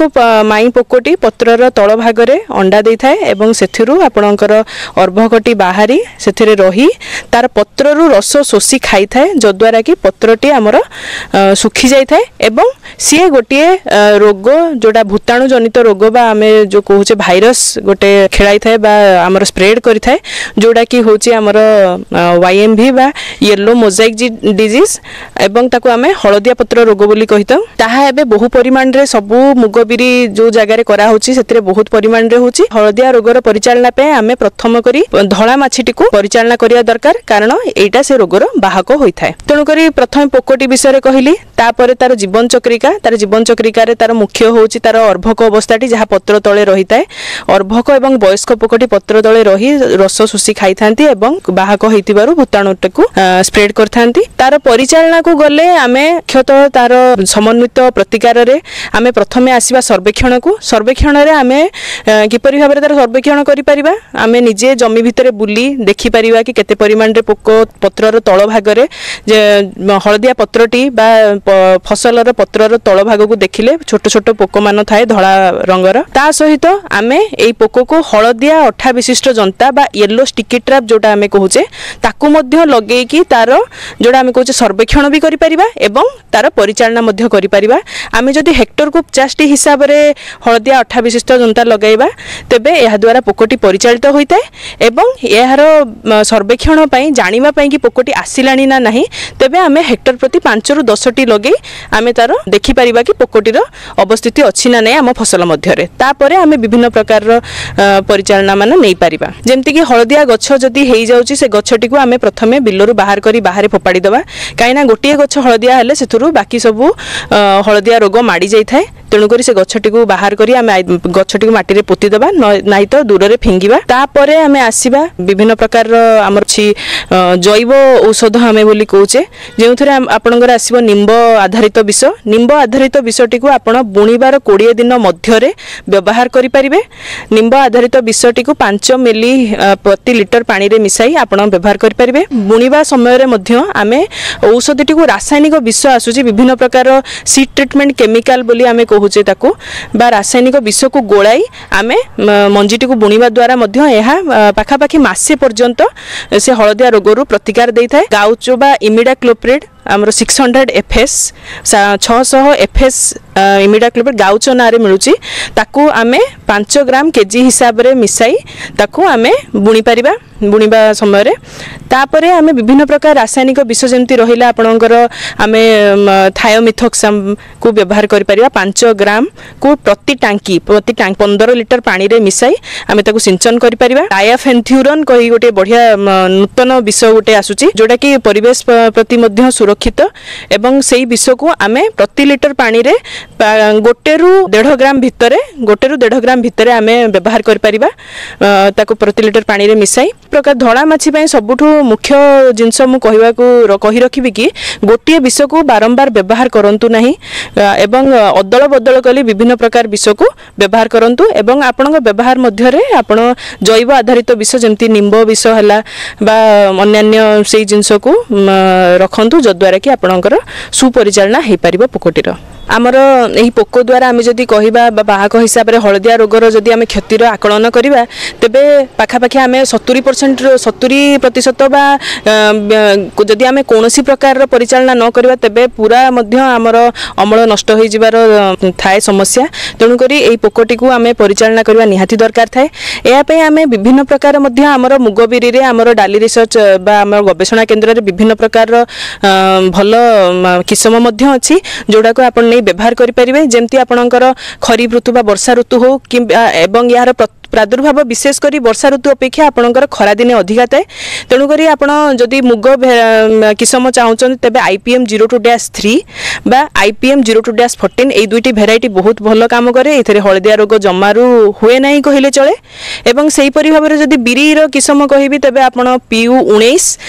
ମାଇଁ ପୋକଟି ପତ୍ରର ତଳ ଭାଗରେ ଅଣ୍ଡା ଦେଇଥାଏ ଏବଂ ସେଥିରୁ ଆପଣଙ୍କର ଅର୍ଭକଟି ବାହାରି ସେଥିରେ ରହି ତାର ପତ୍ରରୁ ରସ ଶୋଷି ଖାଇଥାଏ, ଯଦ୍ୱାରା କି ପତ୍ରଟି ଆମର ଶୁଖି ଯାଇଥାଏ ଏବଂ ସିଏ ଗୋଟିଏ ରୋଗ, ଯେଉଁଟା ଭୂତାଣୁ ଜନିତ ରୋଗ ବା ଆମେ ଯେଉଁ କହୁଛେ ଭାଇରସ ଗୋଟେ ଖେଳାଇଥାଏ ବା ଆମର ସ୍ପ୍ରେଡ୍ କରିଥାଏ, ଯେଉଁଟାକି ହେଉଛି ଆମର YMV ବା ୟେଲୋ ମୋଜାଇକ୍ ଡିଜିଜ୍ ଏବଂ ତାକୁ ଆମେ ହଳଦିଆ ପତ୍ର ରୋଗ ବୋଲି କହିଥାଉ। ତାହା ଏବେ ବହୁ ପରିମାଣରେ ସବୁ ମୁଗ ବିରି ଯେଉଁ ଜାଗାରେ କରାହେଉଛି ସେଥିରେ ବହୁତ ପରିମାଣରେ ହେଉଛି। ହଳଦିଆ ରୋଗର ପରିଚାଳନା ପାଇଁ ଆମେ ପ୍ରଥମ କରି ଧଳା ମାଛିଟିକୁ ପରିଚାଳନା କରିବା ଦରକାର, କାରଣ ଏଇଟା ସେ ରୋଗର ବାହକ ହୋଇଥାଏ। ତେଣୁକରି ପ୍ରଥମେ ପୋକଟି ବିଷୟରେ କହିଲି, ତାପରେ ତାର ଜୀବନ ଚକ୍ରିକା। ତାର ଜୀବନ ଚକ୍ରିକାରେ ତାର ମୁଖ୍ୟ ହେଉଛି ତାର ଅର୍ଭକ ଅବସ୍ଥାଟି, ଯାହା ପତ୍ର ତଳେ ରହିଥାଏ। ଅର୍ଭକ ଏବଂ ବୟସ୍କ ପୋକଟି ପତ୍ର ତଳେ ରହି ରସ ଶୋଷି ଖାଇଥାନ୍ତି ଏବଂ ବାହକ ହେଇଥିବାରୁ ଭୂତାଣୁଟିକୁ ସ୍ପ୍ରେଡ୍ କରିଥାନ୍ତି। ତାର ପରିଚାଳନାକୁ ଗଲେ ଆମେ ମୁଖ୍ୟତଃ ତାର ସମନ୍ୱିତ ପ୍ରତିକାରରେ ଆମେ ପ୍ରଥମେ ଆସିବା ସର୍ବେକ୍ଷଣକୁ। ସର୍ବେକ୍ଷଣରେ ଆମେ କିପରି ଭାବରେ ତାର ସର୍ବେକ୍ଷଣ କରିପାରିବା, ଆମେ ନିଜେ ଜମି ଭିତରେ ବୁଲି ଦେଖିପାରିବା କି କେତେ ପରିମାଣରେ ପୋକ ପତ୍ରର ତଳ ଭାଗରେ, ଯେ ହଳଦିଆ ପତ୍ରଟି ବା ଫସଲର ପତ୍ରର ତଳ ଭାଗକୁ ଦେଖିଲେ ଛୋଟ ଛୋଟ ପୋକମାନ ଥାଏ ଧଳା ରଙ୍ଗର। ତା ସହିତ ଆମେ ଏଇ ପୋକକୁ ହଳଦିଆ ଅଠା ବିଶିଷ୍ଟ ଜନ୍ତା ବା ୟେଲୋ ଷ୍ଟିକି ଟ୍ରାପ୍ ଯେଉଁଟା ଆମେ କହୁଛେ, ତାକୁ ମଧ୍ୟ ଲଗେଇକି ତାର ଯେଉଁଟା ଆମେ କହୁଛେ ସର୍ବେକ୍ଷଣ ବି କରିପାରିବା ଏବଂ ତାର ପରିଚାଳନା ମଧ୍ୟ କରିପାରିବା। ଆମେ ଯଦି ହେକ୍ଟରକୁ 50ଟି ହିସାବରେ ହଳଦିଆ ଅଠା ବିଶିଷ୍ଟ ଜନ୍ତା ଲଗାଇବା ତେବେ ଏହାଦ୍ୱାରା ପୋକଟି ପରିଚାଳିତ ହୋଇଥାଏ ଏବଂ ଏହାର ସର୍ବେକ୍ଷଣ ପାଇଁ ଜାଣିବା ପାଇଁ କି ପୋକଟି ଆସିଲାଣି ନା ନାହିଁ, ତେବେ ଆମେ ହେକ୍ଟର ପ୍ରତି 5ରୁ 10ଟି ଲଗେଇ ଆମେ ତାର ଦେଖିପାରିବା କି ପୋକଟିର ଅବସ୍ଥିତି ଅଛି ନା ନାହିଁ ଆମ ଫସଲ ମଧ୍ୟରେ। ତାପରେ ଆମେ ବିଭିନ୍ନ ପ୍ରକାରର ପରିଚାଳନା ମାନ ନେଇପାରିବା। ଯେମିତିକି ହଳଦିଆ ଗଛ ଯଦି ହେଇଯାଉଛି ସେ ଗଛଟିକୁ ଆମେ ପ୍ରଥମେ ବିଲରୁ ବାହାର କରି ବାହାରେ ଫୋପାଡ଼ି ଦେବା, କାହିଁକିନା ଗୋଟିଏ ଗଛ ହଳଦିଆ ହେଲେ ସେଥିରୁ ବାକି ସବୁ ହଳଦିଆ ରୋଗ ମାଡ଼ି ଯାଇଥାଏ। ତେଣୁକରି ସେ ଗଛଟିକୁ ବାହାର କରି ଆମେ ଗଛଟିକୁ ମାଟିରେ ପୋତି ଦେବା, ନାହିଁ ତ ଦୂରରେ ଫିଙ୍ଗିବା। ତାପରେ ଆମେ ଆସିବା ବିଭିନ୍ନ ପ୍ରକାରର ଆମର ଅଛି ଜୈବ ଔଷଧ ଆମେ ବୋଲି କହୁଛେ, ଯେଉଁଥିରେ ଆପଣଙ୍କର ଆସିବ ନିମ୍ବ ଆଧାରିତ ବିଷ। ନିମ୍ବ ଆଧାରିତ ବିଷଟିକୁ ଆପଣ ବୁଣିବାର 20 ଦିନ ମଧ୍ୟରେ ବ୍ୟବହାର କରିପାରିବେ। ନିମ୍ବ ଆଧାରିତ ବିଷଟିକୁ 5 ମିଲି ପ୍ରତି ଲିଟର ପାଣିରେ ମିଶାଇ ଆପଣ ବ୍ୟବହାର କରିପାରିବେ। ବୁଣିବା ସମୟରେ ମଧ୍ୟ ଆମେ ଔଷଧଟିକୁ ରାସାୟନିକ ବିଷ ଆସୁଛି ବିଭିନ୍ନ ପ୍ରକାର ସିଡ୍ ଟ୍ରିଟମେଣ୍ଟ କେମିକାଲ ବୋଲି ଆମେ କହୁଛେ ତାକୁ, ବା ରାସାୟନିକ ବିଷକୁ ଗୋଳାଇ ଆମେ ମଞ୍ଜିଟିକୁ ବୁଣିବା ଦ୍ୱାରା ମଧ୍ୟ ଏହା ପାଖାପାଖି ମାସେ ପର୍ଯ୍ୟନ୍ତ ସେ ହଳଦିଆ ରୋଗରୁ ପ୍ରତିକାର ଦେଇଥାଏ। ଗାଉଚୋ ବା ଇମିଡାକ୍ଲୋପ୍ରିଡ୍ ଆମର 600 FS, 600 FS imidacloprid ଗାଉଚୋ ନାଁରେ ମିଳୁଛି, ତାକୁ ଆମେ 5 ଗ୍ରାମ କେଜି ହିସାବରେ ମିଶାଇ ତାକୁ ଆମେ ବୁଣିପାରିବା ବୁଣିବା ସମୟରେ। ତାପରେ ଆମେ ବିଭିନ୍ନ ପ୍ରକାର ରାସାୟନିକ ବିଷ ଯେମିତି ରହିଲା ଆପଣଙ୍କର ଆମେ ଥାୟୋମିଥୋକ୍ସାମକୁ ବ୍ୟବହାର କରିପାରିବା। 5 ଗ୍ରାମକୁ ପ୍ରତି ଟାଙ୍କି ପ୍ରତି 15 ଲିଟର ପାଣିରେ ମିଶାଇ ଆମେ ତାକୁ ସିଞ୍ଚନ କରିପାରିବା। ଡାୟାଫେନ୍ଥ୍ୟୁରନ୍ କହି ଗୋଟିଏ ବଢ଼ିଆ ନୂତନ ବିଷ ଗୋଟେ ଆସୁଛି, ଯେଉଁଟାକି ପରିବେଶ ପ୍ରତି ମଧ୍ୟ ସୁରକ୍ଷିତ ଏବଂ ସେଇ ବିଷକୁ ଆମେ ପ୍ରତି ଲିଟର ପାଣିରେ 1ରୁ 1.5 ଗ୍ରାମ ଭିତରେ, 1ରୁ 1.5 ଗ୍ରାମ ଭିତରେ ଆମେ ବ୍ୟବହାର କରିପାରିବା ତାକୁ ପ୍ରତି ଲିଟର ପାଣିରେ ମିଶାଇ। ପ୍ରକାର ଧଳା ମାଛି ପାଇଁ ସବୁଠୁ ମୁଖ୍ୟ ଜିନିଷ ମୁଁ କହିବାକୁ କହି ରଖିବି କି ଗୋଟିଏ ବିଷକୁ ବାରମ୍ବାର ବ୍ୟବହାର କରନ୍ତୁ ନାହିଁ ଏବଂ ଅଦଳ ବଦଳ କରି ବିଭିନ୍ନ ପ୍ରକାର ବିଷକୁ ବ୍ୟବହାର କରନ୍ତୁ ଏବଂ ଆପଣଙ୍କ ବ୍ୟବହାର ମଧ୍ୟରେ ଆପଣ ଜୈବ ଆଧାରିତ ବିଷ ଯେମିତି ନିମ୍ବ ବିଷ ହେଲା ବା ଅନ୍ୟାନ୍ୟ ସେଇ ଜିନିଷକୁ ରଖନ୍ତୁ, ଯଦ୍ୱାରା ଯାହାଦ୍ୱାରା କି ଆପଣଙ୍କର ସୁପରିଚାଳନା ହେଇପାରିବ ପୋକଟିର। ଆମର ଏହି ପୋକ ଦ୍ୱାରା ଆମେ ଯଦି କହିବା ବା ବାହକ ହିସାବରେ ହଳଦିଆ ରୋଗର ଯଦି ଆମେ କ୍ଷତିର ଆକଳନ କରିବା, ତେବେ ପାଖାପାଖି ଆମେ 70%, 70% ବା ଯଦି ଆମେ କୌଣସି ପ୍ରକାରର ପରିଚାଳନା ନ କରିବା, ତେବେ ପୁରା ମଧ୍ୟ ଆମର ଅମଳ ନଷ୍ଟ ହୋଇଯିବାର ଥାଏ ସମସ୍ୟା। ତେଣୁକରି ଏହି ପୋକଟିକୁ ଆମେ ପରିଚାଳନା କରିବା ନିହାତି ଦରକାର ଥାଏ। ଏହା ପାଇଁ ଆମେ ବିଭିନ୍ନ ପ୍ରକାର ମଧ୍ୟ ଆମର ମୁଗ ବିରିରେ ଆମର ଡାଲି ରିସର୍ଚ୍ଚ ବା ଆମର ଗବେଷଣା କେନ୍ଦ୍ରରେ ବିଭିନ୍ନ ପ୍ରକାରର ଭଲ କିସମ ମଧ୍ୟ ଅଛି, ଯେଉଁଟାକୁ ଆପଣ ନେଇ ବ୍ୟବହାର କରିପାରିବେ। ଯେମିତି ଆପଣଙ୍କର ଖରିଫ ଋତୁ ବା ବର୍ଷା ଋତୁ ହେଉ କିମ୍ବା, ଏବଂ ଏହାର ପ୍ରାଦୁର୍ଭାବ ବିଶେଷ କରି ବର୍ଷା ଋତୁ ଅପେକ୍ଷା ଆପଣଙ୍କର ଖରାଦିନେ ଅଧିକା ଥାଏ। ତେଣୁକରି ଆପଣ ଯଦି ମୁଗ କିସମ ଚାହୁଁଛନ୍ତି, ତେବେ IPM 02-3 ବା IPM 02-14, ଏଇ ଦୁଇଟି ଭେରାଇଟି ବହୁତ ଭଲ କାମ କରେ। ଏଥିରେ ହଳଦିଆ ରୋଗ ଜମାରୁ ହୁଏ ନାହିଁ କହିଲେ ଚଳେ। ଏବଂ ସେହିପରି ଭାବରେ ଯଦି ବିରିର କିସମ କହିବି, ତେବେ ଆପଣ PU 19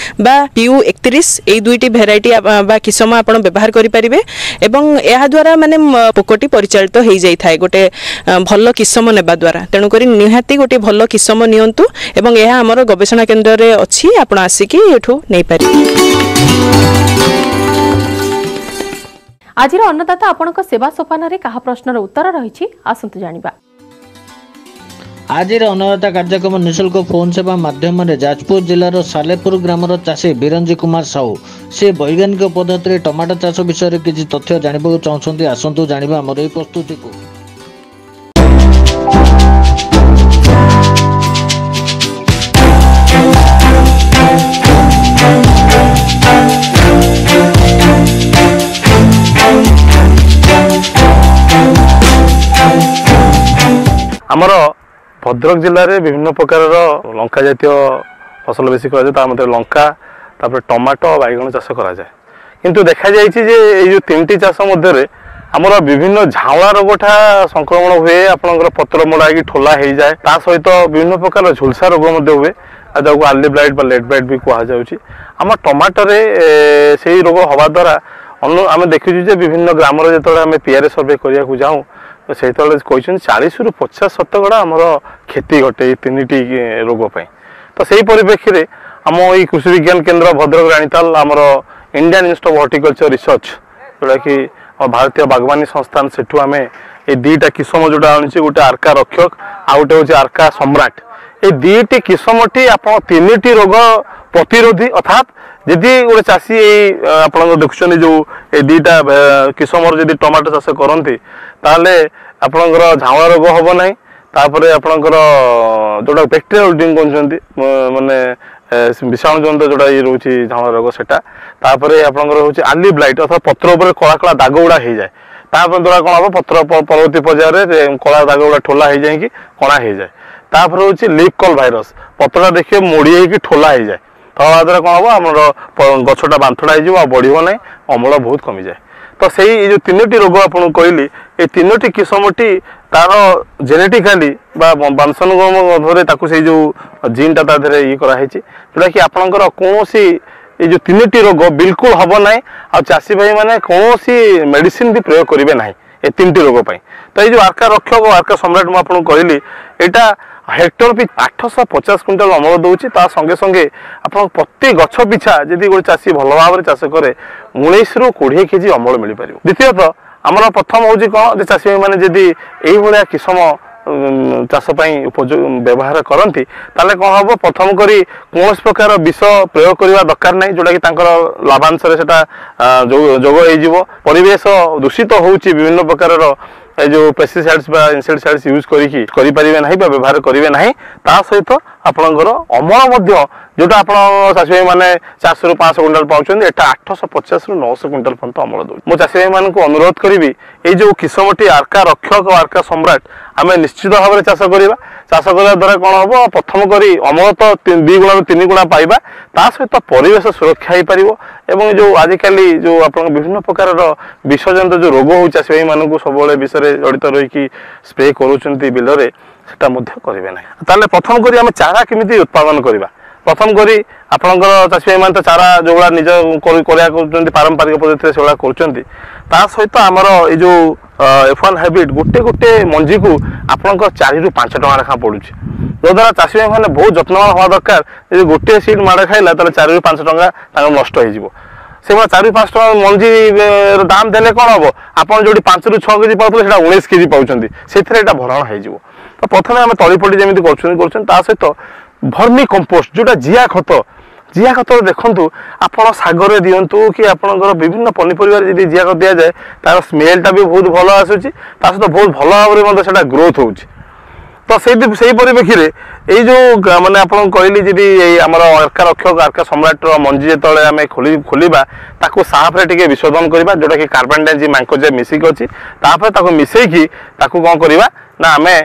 ବା PU 31, ଏଇ ଦୁଇଟି ଭେରାଇଟି ବା କିସମ ଆପଣ ବ୍ୟବହାର କରିପାରିବେ ଏବଂ ଏହାଦ୍ୱାରା ମାନେ ପୋକଟି ପରିଚାଳିତ ହେଇଯାଇଥାଏ ଗୋଟେ ଭଲ କିସମ ନେବା ଦ୍ୱାରା। ତେଣୁକରି ନିହାତି ଗୋଟିଏ ଭଲ କିସମ ନିଅନ୍ତୁ ଏବଂ ଏହା ଆମର ଗବେଷଣା କେନ୍ଦ୍ରରେ ଅଛି, ଆପଣ ଆସିକି ଏଠୁ ନେଇପାରିବେ। ଆଜିର ଅନ୍ନଦାତା ଆପଣଙ୍କ ସେବା ସୋପାନରେ କାହା ପ୍ରଶ୍ନର ଉତ୍ତର ରହିଛି, ଆସନ୍ତୁ ଜାଣିବା। ଆଜିର ଅନ୍ନଦାତା କାର୍ଯ୍ୟକ୍ରମ ନିଃଶୁଳ୍କ ଫୋନ୍ ସେବା ମାଧ୍ୟମରେ ଯାଜପୁର ଜିଲ୍ଲାର ସାଲେପୁର ଗ୍ରାମର ଚାଷୀ ବିରଞ୍ଜି କୁମାର ସାହୁ, ସେ ବୈଜ୍ଞାନିକ ପଦ୍ଧତିରେ ଟମାଟୋ ଚାଷ ବିଷୟରେ କିଛି ତଥ୍ୟ ଜାଣିବାକୁ ଚାହୁଁଛନ୍ତି। ଆସନ୍ତୁ ଜାଣିବା ଆମର ଏହି ପ୍ରସ୍ତୁତିକୁ। ଆମର ଭଦ୍ରକ ଜିଲ୍ଲାରେ ବିଭିନ୍ନ ପ୍ରକାରର ଲଙ୍କା ଜାତୀୟ ଫସଲ ବେଶୀ କରାଯାଏ। ତା ମଧ୍ୟରେ ଲଙ୍କା, ତାପରେ ଟମାଟୋ, ବାଇଗଣ ଚାଷ କରାଯାଏ। କିନ୍ତୁ ଦେଖାଯାଇଛି ଯେ ଏଇ ଯେଉଁ ତିନିଟି ଚାଷ ମଧ୍ୟରେ ଆମର ବିଭିନ୍ନ ଝାଉଁଳା ରୋଗଟା ସଂକ୍ରମଣ ହୁଏ, ଆପଣଙ୍କର ପତ୍ର ମୋଡ଼ା ହେଇକି ଠୋଲା ହେଇଯାଏ। ତା ସହିତ ବିଭିନ୍ନ ପ୍ରକାର ଝୁଲସା ରୋଗ ମଧ୍ୟ ହୁଏ, ଆଉ ଯାହାକୁ ଆର୍ଲି ବ୍ଲାଇଟ୍ ବା ଲେଟ୍ ବ୍ଲାଇଟ୍ ବି କୁହାଯାଉଛି। ଆମ ଟମାଟୋରେ ସେଇ ରୋଗ ହେବା ଦ୍ୱାରା ଆମେ ଦେଖିଛୁ ଯେ ବିଭିନ୍ନ ଗ୍ରାମରେ ଯେତେବେଳେ ଆମେ ପିଆରେ ସର୍ଭେ କରିବାକୁ ଯାଉଁ, ସେତେବେଳେ କହିଛନ୍ତି 40ରୁ 50 ଶତକଡ଼ା ଆମର କ୍ଷତି ଘଟେ ଏଇ ତିନିଟି ରୋଗ ପାଇଁ। ତ ସେଇ ପରିପ୍ରେକ୍ଷୀରେ ଆମ ଏଇ କୃଷି ବିଜ୍ଞାନ କେନ୍ଦ୍ର ଭଦ୍ରକ ରାଣୀତାଲ, ଆମର Indian institute of horticulture research, ଯେଉଁଟାକି ଆମ ଭାରତୀୟ ବାଗବାନୀ ସଂସ୍ଥାନ, ସେଠୁ ଆମେ ଏଇ ଦୁଇଟା କିସମ ଯେଉଁଟା ଆଣିଛି, ଗୋଟେ ଆର୍କା ରକ୍ଷକ ଆଉ ଗୋଟେ ହେଉଛି ଆର୍କା ସମ୍ରାଟ। ଏଇ ଦୁଇଟି କିସମଟି ଆପଣ ତିନିଟି ରୋଗ ପ୍ରତିରୋଧୀ। ଅର୍ଥାତ୍ ଯଦି ଗୋଟେ ଚାଷୀ ଏଇ ଆପଣଙ୍କ ଦେଖୁଛନ୍ତି ଯେଉଁ ଏଇ ଦୁଇଟା କିସମର ଯଦି ଟମାଟୋ ଚାଷ କରନ୍ତି, ତାହେଲେ ଆପଣଙ୍କର ଝାଉଁଳା ରୋଗ ହେବ ନାହିଁ। ତାପରେ ଆପଣଙ୍କର ଯେଉଁଟା ବ୍ୟାକ୍ଟେରିଆଲ ୱିଲ୍ଟିଂ କହୁଛନ୍ତି, ମାନେ ବିଷାଣୁ ଜନିତ ଯେଉଁଟା ଇଏ ରହୁଛି ଝାଉଁଳା ରୋଗ ସେଟା। ତାପରେ ଆପଣଙ୍କର ହେଉଛି ଆର୍ଲି ବ୍ଲାଇଟ୍, ଅର୍ଥାତ୍ ପତ୍ର ଉପରେ କଳା କଳା ଦାଗ ଗୁଡ଼ା ହେଇଯାଏ। ତା ଦ୍ୱାରା କ'ଣ ହେବ? ପତ୍ର ପରବର୍ତ୍ତୀ ପର୍ଯ୍ୟାୟରେ କଳା ଦାଗ ଗୁଡ଼ା ଠୋଲା ହେଇଯାଇକି କଣା ହେଇଯାଏ। ତାପରେ ହେଉଛି ଲିପ୍ କଲ୍ ଭାଇରସ୍, ପତ୍ରଟା ଦେଖିବେ ମୋଡ଼ି ହେଇକି ଠୋଲା ହେଇଯାଏ। ତା ଦ୍ୱାରା କ'ଣ ହେବ? ଆମର ଗଛଟା ବାନ୍ଥଡ଼ା ହେଇଯିବ ଆଉ ବଢ଼ିବ ନାହିଁ, ଅମଳ ବହୁତ କମିଯାଏ। ତ ସେଇ ଏଇ ଯେଉଁ ତିନୋଟି ରୋଗ ଆପଣଙ୍କୁ କହିଲି, ଏଇ ତିନୋଟି କିସମଟି ତାର ଜେନେଟିକାଲି ବା ବଂଶାନୁକ୍ରମ ତାକୁ ସେଇ ଯେଉଁ ଜିନ୍ଟା ତା ଦେହରେ ଇଏ କରାହେଇଛି, ଯେଉଁଟାକି ଆପଣଙ୍କର କୌଣସି ଏଇ ଯେଉଁ ତିନୋଟି ରୋଗ ବିଲକୁଲ ହେବ ନାହିଁ ଆଉ ଚାଷୀ ଭାଇମାନେ କୌଣସି ମେଡ଼ିସିନ ବି ପ୍ରୟୋଗ କରିବେ ନାହିଁ ଏ ତିନିଟି ରୋଗ ପାଇଁ। ତ ଏଇ ଯେଉଁ ଆର୍କା ରକ୍ଷକ ଓ ଆର୍କା ସମ୍ରାଟ ମୁଁ ଆପଣଙ୍କୁ କହିଲି, ଏଇଟା ହେକ୍ଟର ବି 850 କୁଇଣ୍ଟାଲ ଅମଳ ଦେଉଛି। ତା ସଙ୍ଗେ ସଙ୍ଗେ ଆପଣ ପ୍ରତି ଗଛ ପିଛା ଯଦି ଗୋଟେ ଚାଷୀ ଭଲ ଭାବରେ ଚାଷ କରେ, 19ରୁ 20 କେଜି ଅମଳ ମିଳିପାରିବ। ଦ୍ୱିତୀୟତଃ ଆମର ପ୍ରଥମ ହେଉଛି କ'ଣ ଯେ ଚାଷୀ ଭାଇମାନେ ଯଦି ଏଇଭଳିଆ କିସମ ଚାଷ ପାଇଁ ଉପଯୋଗ ବ୍ୟବହାର କରନ୍ତି, ତାହେଲେ କ'ଣ ହେବ? ପ୍ରଥମ କରି କୌଣସି ପ୍ରକାର ବିଷ ପ୍ରୟୋଗ କରିବା ଦରକାର ନାହିଁ, ଯେଉଁଟାକି ତାଙ୍କର ଲାଭାଂଶରେ ସେଟା ଯୋଗ ହେଇଯିବ। ପରିବେଶ ଦୂଷିତ ହେଉଛି ବିଭିନ୍ନ ପ୍ରକାରର ଏ ଯେଉଁ ପେଷ୍ଟିସାଇଡ୍ସ ବା ଇନସେକ୍ଟିସାଇଡ୍ସ ୟୁଜ୍ କରିକି କରିପାରିବେ ନାହିଁ ବା ବ୍ୟବହାର କରିବେ ନାହିଁ। ତା ସହିତ ଆପଣଙ୍କର ଅମଳ ମଧ୍ୟ, ଯେଉଁଟା ଆପଣ ଚାଷୀ ଭାଇମାନେ 400ରୁ 500 କୁଇଣ୍ଟାଲ ପାଉଛନ୍ତି, ଏଟା 850ରୁ 900 କୁଇଣ୍ଟାଲ ପର୍ଯ୍ୟନ୍ତ ଅମଳ ଦେଉଛି। ମୁଁ ଚାଷୀ ଭାଇମାନଙ୍କୁ ଅନୁରୋଧ କରିବି, ଏଇ ଯେଉଁ କିସମଟି ଆର୍କା ରକ୍ଷକ ଓ ଆର୍କା ସମ୍ରାଟ ଆମେ ନିଶ୍ଚିତ ଭାବରେ ଚାଷ କରିବା। ଚାଷ କରିବା ଦ୍ୱାରା କ'ଣ ହେବ? ପ୍ରଥମ କରି ଅମଳ ତ 2 ଗୁଣାରୁ 3 ଗୁଣା ପାଇବା, ତା ସହିତ ପରିବେଶ ସୁରକ୍ଷା ହେଇପାରିବ। ଏବଂ ଯେଉଁ ଆଜିକାଲି ଯେଉଁ ଆପଣଙ୍କ ବିଭିନ୍ନ ପ୍ରକାରର ବିଷଜନିତ ଯେଉଁ ରୋଗ ହେଉଛି, ଚାଷୀ ଭାଇମାନଙ୍କୁ ସବୁବେଳେ ବିଷରେ ଜଡ଼ିତ ରହିକି ସ୍ପ୍ରେ କରୁଛନ୍ତି ବିଲରେ, ସେଟା ମଧ୍ୟ କରିବେ ନାହିଁ। ତାହେଲେ ପ୍ରଥମ କରି ଆମେ ଚାରା କେମିତି ଉତ୍ପାଦନ କରିବା? ପ୍ରଥମ କରି ଆପଣଙ୍କର ଚାଷୀ ଭାଇମାନେ ତ ଚାରା ଯେଉଁଭଳିଆ ନିଜ କରିବା କରୁଛନ୍ତି ପାରମ୍ପରିକ ପଦ୍ଧତିରେ, ସେଭଳିଆ କରୁଛନ୍ତି। ତା ସହିତ ଆମର ଏଇ ଯେଉଁ F1 hybrid ଗୋଟେ ଗୋଟେ ମଞ୍ଜିକୁ ଆପଣଙ୍କ 4ରୁ 5 ଟଙ୍କା ଲେଖା ପଡ଼ୁଛି, ଯଦ୍ୱାରା ଚାଷୀ ଭାଇମାନେ ବହୁତ ଯତ୍ନବାନ ହେବା ଦରକାର। ଯଦି ଗୋଟିଏ ସିଡ୍ ମାଡ଼ ଖାଇଲା, ତାହେଲେ 4ରୁ 5 ଟଙ୍କା ତାଙ୍କର ନଷ୍ଟ ହେଇଯିବ। ସେଭଳିଆ 4-5 ଟଙ୍କା ମଞ୍ଜି ଦାମ ଦେଲେ କ'ଣ ହବ? ଆପଣ ଯୋଉଠି 5ରୁ 6 କେଜି ପାଉଥିଲେ, ସେଇଟା 19 କେଜି ପାଉଛନ୍ତି, ସେଥିରେ ଏଇଟା ଭରଣ ହେଇଯିବ। ତ ପ୍ରଥମେ ଆମେ ତଳି ଫଳି ଯେମିତି କରୁଛନ୍ତି, ତା ସହିତ ଭର୍ମି କମ୍ପୋଷ୍ଟ, ଯୋଉଟା ଜିଆ ଖତ। ଜିଆ ଖତ ଦେଖନ୍ତୁ, ଆପଣ ଶାଗରେ ଦିଅନ୍ତୁ କି ଆପଣଙ୍କର ବିଭିନ୍ନ ପନିପରିବାରେ ଯଦି ଜିଆ ଖତ ଦିଆଯାଏ, ତାର ସ୍ମେଲଟା ବି ବହୁତ ଭଲ ଆସୁଛି, ତା ସହିତ ବହୁତ ଭଲ ଭାବରେ ମଧ୍ୟ ସେଇଟା ଗ୍ରୋଥ୍ ହେଉଛି। ତ ସେଇ ପରିପ୍ରେକ୍ଷୀରେ ଏଇ ଯେଉଁ ମାନେ ଆପଣଙ୍କୁ କହିଲି, ଯଦି ଏଇ ଆମର ଆର୍କା ରକ୍ଷକ, ଆର୍କା ସମ୍ରାଟର ମଞ୍ଜି ଯେତେବେଳେ ଆମେ ଖୋଲିବା, ତାକୁ ସାଫରେ ଟିକେ ବିଶୋଧନ କରିବା, ଯେଉଁଟାକି କାର୍ବନଡାଇଜିମ୍, ମାଙ୍କୋଜେବ୍ ମିଶିକି ଅଛି। ତାପରେ ତାକୁ ମିଶେଇକି ତାକୁ କ'ଣ କରିବା ନା ଆମେ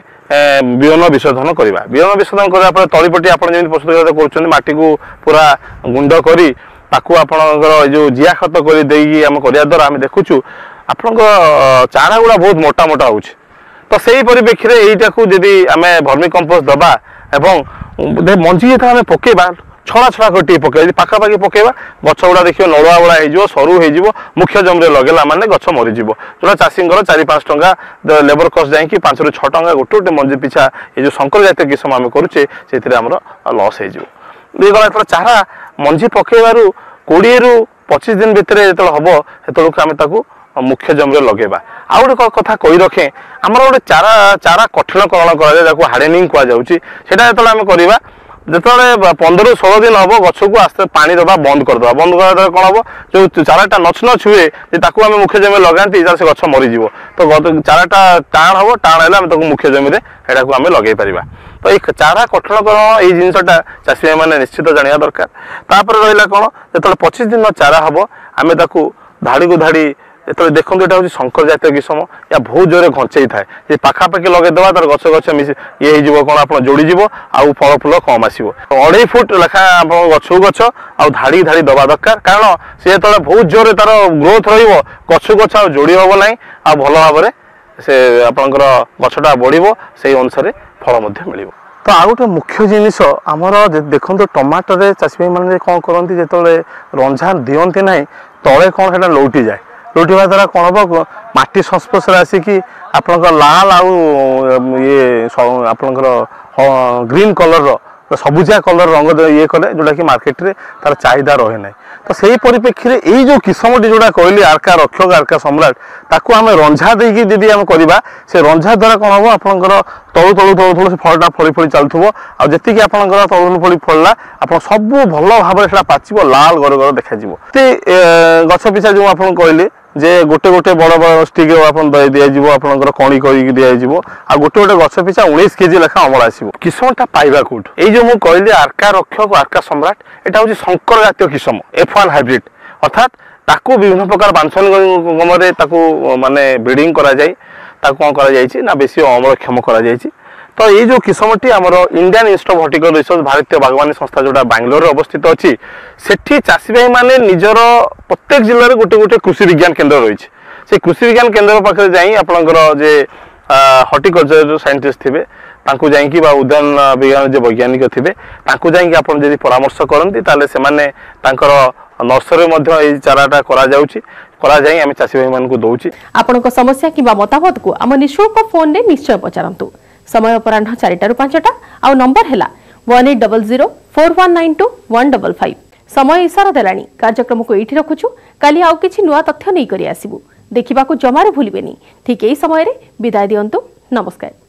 ବିହନ ବିଶୋଧନ କରିବା। ବିହନ ବିଶୋଧନ କରିବା ପରେ ତଳିପଟି ଆପଣ ଯେମିତି ପ୍ରସ୍ତୁତ କରୁଛନ୍ତି, ମାଟିକୁ ପୁରା ଗୁଣ୍ଡ କରି ତାକୁ ଆପଣଙ୍କର ଏଇ ଯେଉଁ ଜିଆ ଖତ କରି ଦେଇକି ଆମେ କରିବା ଦ୍ୱାରା ଆମେ ଦେଖୁଛୁ ଆପଣଙ୍କ ଚାରା ଗୁଡ଼ା ବହୁତ ମୋଟା ମୋଟା ହେଉଛି। ତ ସେଇ ପରିପ୍ରେକ୍ଷୀରେ ଏଇଟାକୁ ଯଦି ଆମେ ଭର୍ମି କମ୍ପୋଷ୍ଟ ଦେବା ଏବଂ ମଞ୍ଜି ଯେତେବେଳେ ଆମେ ପକେଇବା, ଛଡ଼ା ଛଡ଼ା କରି ଟିକେ ପକେଇବା। ଯଦି ପାଖାପାଖି ପକେଇବା, ଗଛ ଗୁଡ଼ା ଦେଖିବ ନଳୁଆ ଭଳିଆ ହେଇଯିବ, ସରୁ ହେଇଯିବ। ମୁଖ୍ୟ ଜମିରେ ଲଗେଇଲା ମାନେ ଗଛ ମରିଯିବ, ଯୋଉଟା ଚାଷୀଙ୍କର 4-5 ଟଙ୍କା ଲେବର କଷ୍ଟ ଯାଇକି 5ରୁ 6 ଟଙ୍କା ଗୋଟେ ଗୋଟେ ମଞ୍ଜି ପିଛା ଏ ଯେଉଁ ଶଙ୍କର ଜାତୀୟ କିସମ ଆମେ କରୁଛେ, ସେଥିରେ ଆମର ଲସ୍ ହେଇଯିବ। ଇଏ ଗଲା। ଯେତେବେଳେ ଚାରା ମଞ୍ଜି ପକେଇବାରୁ 20ରୁ 25 ଦିନ ଭିତରେ ଯେତେବେଳେ ହବ, ସେତେବେଳକୁ ଆମେ ତାକୁ ମୁଖ୍ୟ ଜମିରେ ଲଗେଇବା। ଆଉ ଗୋଟେ କଥା କହି ରଖେ, ଆମର ଗୋଟେ ଚାରା କଠିନକରଣ କରାଯାଏ, ଯାହାକୁ ହାର୍ଡେନିଂ କୁହାଯାଉଛି। ସେଇଟା ଯେତେବେଳେ ଆମେ କରିବା, ଯେତେବେଳେ 15ରୁ 16 ଦିନ ହବ, ଗଛକୁ ଆସ୍ତେ ପାଣି ଦେବା ବନ୍ଦ କରିଦେବା। ବନ୍ଦ କରିବା ଦ୍ୱାରା କ'ଣ ହବ? ଯୋଉ ଚାରାଟା ନଛ ନଛ ହୁଏ ଯେ ତାକୁ ଆମେ ମୁଖ୍ୟ ଜମିରେ ଲଗାନ୍ତି, ତାହେଲେ ସେ ଗଛ ମରିଯିବ। ତ ଚାରାଟା ଟାଣ ହବ, ଟାଣ ହେଲେ ଆମେ ତାକୁ ମୁଖ୍ୟ ଜମିରେ ଏଟାକୁ ଆମେ ଲଗେଇ ପାରିବା। ତ ଏଇ ଚାରା କଠିନକରଣ, ଏଇ ଜିନିଷଟା ଚାଷୀ ଭାଇମାନେ ନିଶ୍ଚିତ ଜାଣିବା ଦରକାର। ତାପରେ ରହିଲା କ'ଣ, ଯେତେବେଳେ 25 ଦିନ ଚାରା ହବ, ଆମେ ତାକୁ ଧାଡ଼ିକୁ ଧାଡ଼ି ଯେତେବେଳେ ଦେଖନ୍ତୁ, ଏଇଟା ହେଉଛି ଶଙ୍କର ଜାତୀୟ କିସମ, ୟା ବହୁତ ଜୋରେ ଘଞ୍ଚେଇ ଥାଏ। ଯେ ପାଖାପାଖି ଲଗେଇଦେବା, ତାର ଗଛ ଗଛ ମିଶି ଇଏ ହେଇଯିବ, କ'ଣ ଆପଣ ଯୋଡ଼ିଯିବ ଆଉ ଫଳ ଫୁଲ କମ୍ ଆସିବ। 2.5 ଫୁଟ ଲେଖା ଆପଣଙ୍କ ଗଛକୁ ଗଛ ଆଉ ଧାଡ଼ି ଧାଡ଼ି ଦେବା ଦରକାର, କାରଣ ସେ ଯେତେବେଳେ ବହୁତ ଜୋରେ ତାର ଗ୍ରୋଥ ରହିବ, ଗଛକୁ ଗଛ ଆଉ ଯୋଡ଼ି ହେବ ନାହିଁ, ଆଉ ଭଲ ଭାବରେ ସେ ଆପଣଙ୍କର ଗଛଟା ବଢ଼ିବ, ସେଇ ଅନୁସାରେ ଫଳ ମଧ୍ୟ ମିଳିବ। ତ ଆଉ ଗୋଟେ ମୁଖ୍ୟ ଜିନିଷ ଆମର ଦେଖନ୍ତୁ, ଟମାଟୋରେ ଚାଷୀ ଭାଇମାନେ କ'ଣ କରନ୍ତି, ଯେତେବେଳେ ରଞ୍ଝା ଦିଅନ୍ତି ନାହିଁ, ତଳେ କ'ଣ ସେଇଟା ଲଉଟି ଯାଏ। ଲଉଟିବା ଦ୍ୱାରା କ'ଣ ହେବ? ମାଟି ସଂସ୍ପର୍ଶରେ ଆସିକି ଆପଣଙ୍କ ଲାଲ ଆଉ ଇଏ ଆପଣଙ୍କର ଗ୍ରୀନ୍ କଲର୍ର, ସବୁଜିଆ କଲର୍ ରଙ୍ଗ ଇଏ କଲେ, ଯେଉଁଟାକି ମାର୍କେଟରେ ତାର ଚାହିଦା ରହେ ନାହିଁ। ତ ସେଇ ପରିପ୍ରେକ୍ଷୀରେ ଏଇ ଯେଉଁ କିସମଟି ଯେଉଁଟା କହିଲି, ଆର୍କା ରକ୍ଷକ, ଆର୍କା ସମ୍ରାଟ, ତାକୁ ଆମେ ରଞ୍ଝା ଦେଇକି ଯଦି ଆମେ କରିବା, ସେ ରଞ୍ଝା ଦ୍ୱାରା କ'ଣ ହେବ? ଆପଣଙ୍କର ତଳୁ ତଳୁ ତଳୁ ତଳୁ ସେ ଫଳଟା ଫଳି ଫଳି ଚାଲୁଥିବ, ଆଉ ଯେତିକି ଆପଣଙ୍କର ତଳୁ ତଳୁ ଫଳି ଫଳିଲା, ଆପଣ ସବୁ ଭଲ ଭାବରେ ସେଟା ପାଚିବ, ଲାଲ ଗର ଗର ଦେଖାଯିବ। ସେ ଗଛ ପିଛା ଯେଉଁ ଆପଣଙ୍କୁ କହିଲି ଯେ ଗୋଟେ ଗୋଟେ ବଡ଼ ବଡ଼ ଷ୍ଟିକ୍ ଆପଣ ଦିଆଯିବ, ଆପଣଙ୍କର କଣି କରିକି ଦିଆଯିବ, ଆଉ ଗୋଟେ ଗୋଟେ ଗଛ ପିଛା 19 କେଜି ଲେଖା ଅମଳ ଆସିବ। କିସମଟା ପାଇବା କୋଉଠୁ? ଏଇ ଯେଉଁ ମୁଁ କହିଲି ଆର୍କା ରକ୍ଷକ, ଆର୍କା ସମ୍ରାଟ, ଏଇଟା ହେଉଛି ଶଙ୍କର ଜାତୀୟ କିସମ, F1 hybrid. ଅର୍ଥାତ୍ ତାକୁ ବିଭିନ୍ନ ପ୍ରକାର ବାଂଶାନୁକ୍ରମରେ ତାକୁ ମାନେ ବ୍ରିଡ଼ିଂ କରାଯାଇ ତାକୁ କ'ଣ କରାଯାଇଛି ନା ବେଶୀ ଅମଳକ୍ଷମ କରାଯାଇଛି। ତ ଏଇ ଯେଉଁ କିସମଟି ଆମର Indian institute of horticulture research, ଭାରତୀୟ ବାଗବାନୀ ସଂସ୍ଥା, ଯେଉଁଟା ବାଙ୍ଗାଲୋରରେ ଅବସ୍ଥିତ ଅଛି, ସେଠି ଚାଷୀ ଭାଇମାନେ ନିଜର ପ୍ରତ୍ୟେକ ଜିଲ୍ଲାରେ ଗୋଟେ ଗୋଟେ କୃଷି ବିଜ୍ଞାନ କେନ୍ଦ୍ର ରହିଛି। ସେଇ କୃଷି ବିଜ୍ଞାନ କେନ୍ଦ୍ର ପାଖରେ ଯାଇ ଆପଣଙ୍କର ଯେ ହର୍ଟିକଲଚର ସାଇଣ୍ଟିଷ୍ଟ ଥିବେ ତାଙ୍କୁ ଯାଇକି ବା ଉଦ୍ୟାନ ବିଜ୍ଞାନ ଯେ ବୈଜ୍ଞାନିକ ଥିବେ ତାଙ୍କୁ ଯାଇକି ଆପଣ ଯଦି ପରାମର୍ଶ କରନ୍ତି, ତାହେଲେ ସେମାନେ ତାଙ୍କର ନର୍ସରୀରେ ମଧ୍ୟ ଏଇ ଚାରାଟା କରାଯାଉଛି, କରାଯାଇ ଆମେ ଚାଷୀ ଭାଇମାନଙ୍କୁ ଦଉଛି। ଆପଣଙ୍କ ସମସ୍ୟା କିମ୍ବା ମତାମତକୁ ଆମ ନିଃଶୁଳ୍କ ଫୋନରେ ନିଶ୍ଚୟ ପଚାରନ୍ତୁ। ସମୟ ଅପରାହ୍ନ 4ଟାରୁ 5ଟା ଆଉ ନମ୍ବର ହେଲା 1800 419 2155। ସମୟ ଇସାରା ଦେଲାଣି, କାର୍ଯ୍ୟକ୍ରମକୁ ଏଇଠି ରଖୁଛୁ। କାଲି ଆଉ କିଛି ନୂଆ ତଥ୍ୟ ନେଇକରି ଆସିବୁ, ଦେଖିବାକୁ ଜମାରୁ ଭୁଲିବେନି ଠିକ୍ ଏଇ ସମୟରେ। ବିଦାୟ ଦିଅନ୍ତୁ, ନମସ୍କାର।